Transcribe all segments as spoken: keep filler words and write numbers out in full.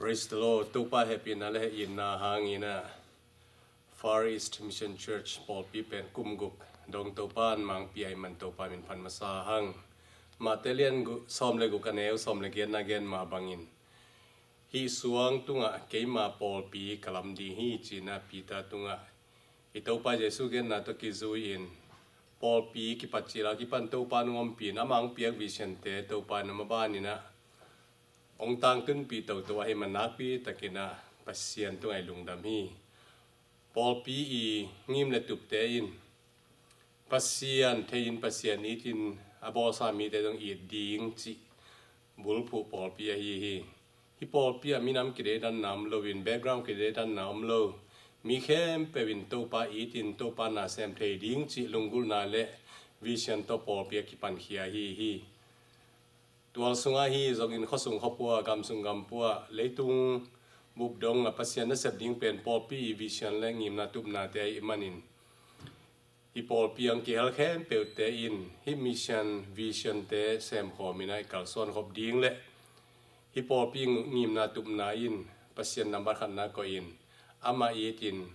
Praise the Lord. Topa hehpihna le hehpihna hangin ah Far East Mission Church pawlpi pen kum guk dong Topa in mangpi a, i man Topa min phat masa hang. Mate lian gu-, sawm le guk a neu sawm le giatna gen mah bangin, hih suang tungah keima pawlpi ka lam ding hi, ci-in ah Peter tungah i Topa Jesu genna tawh kizui-in pawlpi kipat cil a kipan Topa in hong ompih in, amah hong piak vision-te Topa in hong maban in ah hong tangtunpih toto ahih man nakpi takin ah Pasian tungah i lungdam hi. Pawlpi i ngim le tupte in Pasian thei-in, Pasian it-in, a bawlsa mite zong it ding cih bulphuh pawlpi ahi hi. Hih pawlpi ah minam kideidanna om loin, background kideidanna om lo, mi khempeuh in Topa it-in, Topa na sem thei ding cih lunggulhna le vision tawh pawlpi a kipankhia ahi hi. Tual sungah hi zongin, khuasung khuapua, gamsung gampua, leitung bup dong a Pasian nasep ding pen pawlpi i vision le ngimna tupnate ahih manin, hih pawlpi ang kihel khempeuhte in hih mission vision-te semkhawm in ah i kalsuan khop ding le hih pawlpi ngimna tupna in Pasian nambat khatna koih in, amah it-in,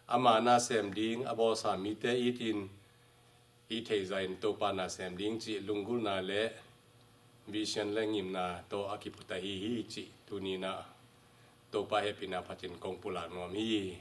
ama na sem ding, a bawlsa mite it-in, i theihzah in Topa na sem ding cih lunggulhna le vision le ngimna tawh a kiput ahi hi cih tuni in ah Topa hehpihna phatin kong pulak nuam hi.